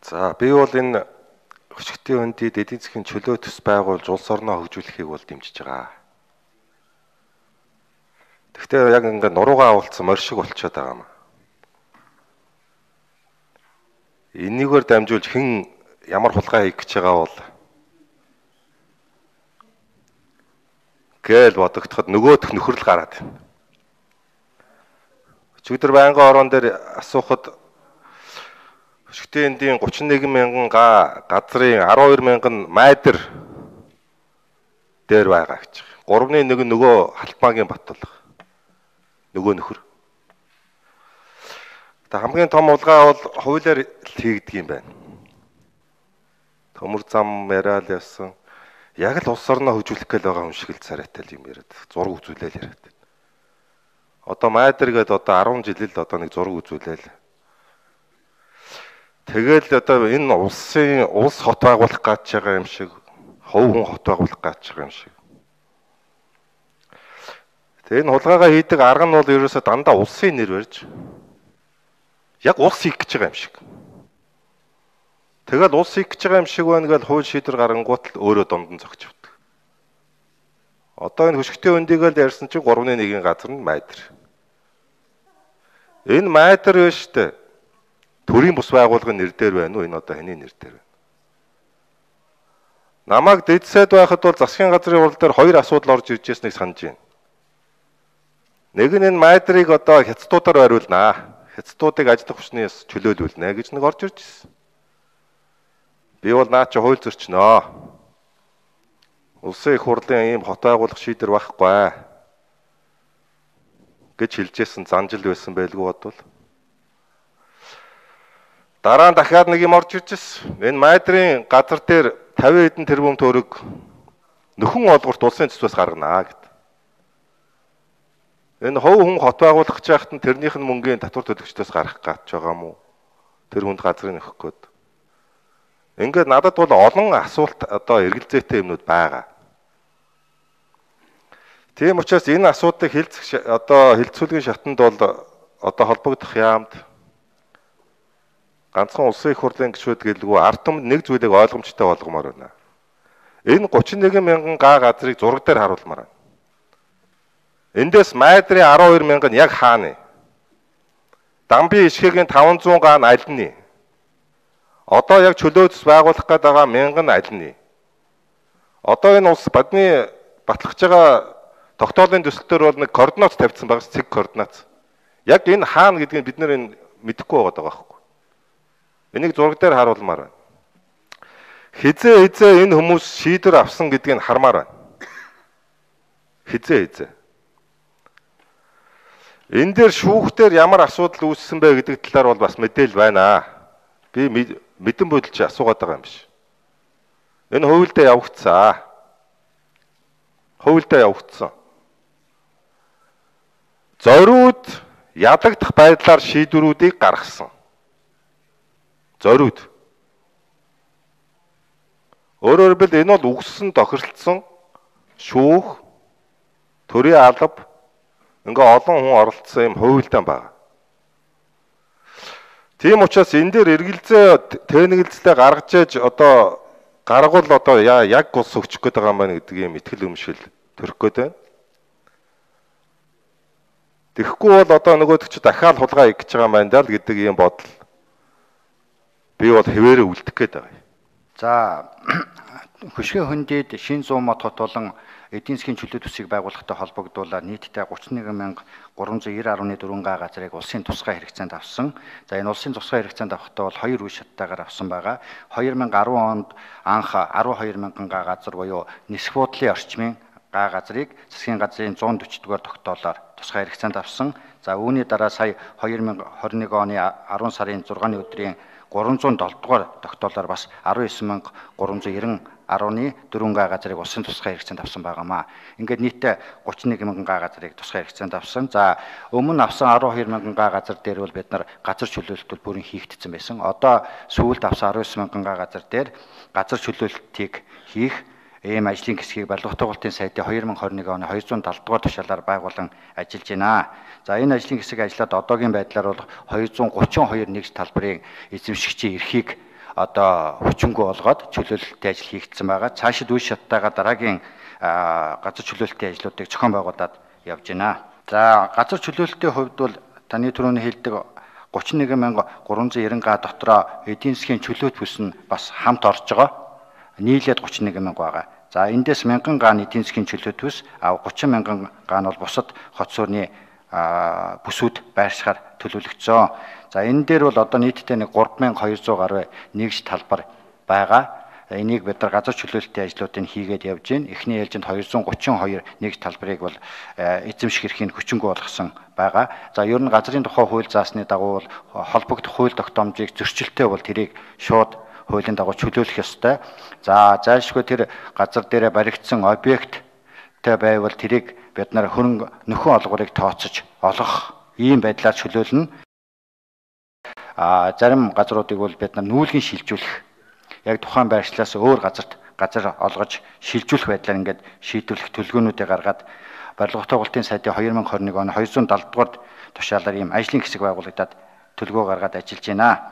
За би бол энэ өчигдийн өндөд эдийн засгийн чөлөө төс байгуулж улс орноо хөгжүүлэхийг бол дэмжиж байгаа. Гэхдээ яг ингээд нуруугаа авалцсан морь шиг болчиход байгаа юм. Энийгээр дамжуулж хэн ямар хулгай хийх гэж байгаа бол гээл бодогдоход нөгөөх нөхрөл гараад байна. Өчигдөр байнгын орон дээр асуухад өчигдийн эндийн 31 мянган газрын 12 мянган майдер дээр байгаа гэж. 3-1 нөгөө Халтмаагийн Баттулга. Нөгөө нөхөр. Тэгээ хамгийн том улгаа бол хуулиар хийгдэг юм байна. Төмөр зам яриад явсан. Яг л улс орноо хөгжүүлэх гээл байгаа юм шиг л царайтай юм яриад. Зураг үзүүлээл яриад. Одоо майдер гээд одоо 10 жил л одоо нэг зураг үзүүлээл. Тэгэл одоо энэ улс хот байгуулах гэж байгаа юм шиг, хувь хүн хот байгуулах гэж байгаа юм шиг. Тэгээ энэ хулгайгаа хийдэг арга нь бол ерөөсөө дандаа улсын нэр барьж яг улс хийх гэж байгаа юм шиг. Тэгэл улс хийх гэж байгаа юм шиг байна гэж хууль шийдвэр гаргангуут л өөрөө дунд нь зогч явдаг. Одоо энэ хөшгтийн өндийгөө л ярьсан чинь 3-1 газар нь майдер. Энэ майдер вэ штэ. Төрийн бус байгууллагын нэр дээр байна уу? Энэ одоо хэний нэр дээр байна? Намайг дэдсэд байхад бол засгийн газрын урал дээр 2 асуудал орж ирж байсныг санаж байна. Нэг нь энэ майдрыг одоо хятадуудаар ойруулнаа. Хятадуудыг ажлах хүчнээс чөлөөлүүлнэ гэж нэг орж ирж ирсэн. Би бол наа чи хууль зөрчнөө. Улсын их хурлын ийм хот байгуулах шийдвэр байхгүй гэж хэлжсэн занжил байсан байлгүй бодвол. Дараа нь дахиад нэг юм орж ирж ирсэн. Энэ майдрын газар дээр 50 хэдэн тэрбум төгрөг нөхөн олгорт улсын төсвөөс гарганаа гэд. Энэ хувь хүн хот байгуулах гэж байхад нь тэрнийх нь мөнгөний татвар төлөгчдөөс гарах гэж байгаа юм уу? Тэр хүнд газрыг нөхөх гээд. Ингээд надад бол олон асуулт одоо эргэлзээтэй юмнууд байгаа. Тийм учраас энэ асуудыг хилцүүлгийн шатанд бол одоо холбогдох яамд ганцхан улсын их хурлын гишүүд гэлгүй ард түмэнд нэг зүйлийг ойлгомжтой болгомоор байна. Энэ 31 мянган газрыг зураг дээр харуулмаар байна. Эндээс майдрын 12 мянган яг хаана? Дамби ишхэгийн 500 аль нь? Одоо яг чөлөөс байгуулах гээд байгаа мянган аль нь? Одоо энэ улс бадны батлахж байгаа тогтоолын төсөлтөөр бол нэг координат тавьсан байгаа цэг координат. Яг энэ хаана гэдгийг бид нэр мэдэхгүй байгаа байхгүй. Энийг зураг дээр харуулмаар байна. Хизээ энэ хүмүүс шийдвэр авсан гэдгийг хармаар байна. Хизээ. Энэ дээр шүүхтэр ямар асуудал үүссэн бэ гэдэг талаар бол бас мэдээлэл байна. Би мэдэн бодолч асуугаад байгаа юм биш. Энэ хувилдаа явагдсан. Зориуд ядагдах байдлаар шийдвэрүүдийг гаргасан. Зориуд. Өөрөөр хэлбэл энэ бол үгссэн тохиролцсон шүүх, төрийн алба ингээ олон хүн оролцсон юм хувилдаан байна. Тийм учраас энэ дээр эргэлзээ тэнэгэлзлээ гаргаж ээж одоо гаргуул одоо яг ус өгчих гээд байгаа юм байна гэдэг юм итгэл өмшил төрөх гээд байна. Тэгэхгүй бол одоо нөгөөдөг чи дахиад хулгай хийж байгаа юм байна даа л гэдэг юм бодол би бол хэвээрээ үлдэх гээд байгаа юм. За хөшгөө хөндөд шин 100 мод хот болон эдийн засгийн чөлөө төсвийг байгуулахтай холбогдуулаад нийтдээ 31390.4 га газрыг улсын тусгай хэрэгцээнд авсан. За энэ улсын тусгай хэрэгцээнд авахдаа бол 2 үе шаттайгаар авсан байгаа. 2010 онд анх 12 мянган га газар буюу нисэх буудлын орчмын га газрыг засгийн газрын 140 дугаар тогтоолоор тусгай хэрэгцээнд авсан. За үүний дараа сая 2021 оны 10 сарын 6-ны өдрийн 307 дугаар тогтоолоор бас 19390.4 га газрыг улсын тусгай хэрэгцээнд авсан байгаамаа. Ингээд нийтдээ 31 мянган га газрыг тусгай хэрэгцээнд авсан. За өмнө авсан 12 мянган га газар дээр бол бид нар газар чөлөөлөлт бол бүрэн хийгдсэн байсан. Одоо сүүлд авсан 19 мянган га газар дээр газар чөлөөлөлтийг хийх ийм ажлын хэсгийг Барилга тугалтын сайдын 2021 оны 270 дугаар тушаалаар байгуулан ажиллаж байна. За энэ ажлын хэсэг ажиллаад одоогийн байдлаар бол 232 нэгж талбарын эзэмшигчийн эрхийг одоо хүчингү болгоод чөлөөлөлтийн ажил хийгдсэн байгаа. Цаашид үе шаттайгаар дараагийн газар чөлөөлөлтийн ажлуудыг зохион байгуулад явж байна. За газар чөлөөлөлтийн хувьд бол таны түрүүний хэлдэг 31390 га дотроо эдийн засгийн чөлөөт бүс нь бас хамт орж байгаа. Нийлээд 31000 байгаа. За эндээс 1000 га эдийн засгийн чөлөөт бүс, 30,000 га нь бол бусад хот суурны бүсүүд байршихаар төлөвлөгдсөн. За энэ дээр бол одоо нийтдээ нэг 3200 гаруй нэгж талбар байгаа. Энийг бид нар газар чөлөөлөлтийн ажлуудыг хийгээд явж байна. Эхний ээлжинд 232 нэгж талбарыг бол эзэмших эрхийг хүчингү болгосон байгаа. За ер нь газрын тухай хууль заасны дагуу бол холбогдох хууль тогтоомжийг зөрчилтэй бол тэрийг шууд хуулийн дагуу чөлөөлөх ёстой. За зайлшгүй тэр газар дээрээ баригдсан объекттэй байвал тэрийг бид нар хөрөнгө нөхөн олгорыг тооцож олгох ийм байдлаар чөлөөлнө. Зарим газруудыг бол бид нар нүүлгэн шилжүүлэх, яг тухайн байршлаас өөр газар олгож шилжүүлэх байдлаар ингээд шийдвэрлэх төлөвлөгөөнүүдийг гаргаад барилга тогтоолтын сайдын 2021 оны 270 дугаар тушаалаар ийм ажлын хэсэг байгуулагдаад төлөвлөгөө гаргаад ажиллаж байна.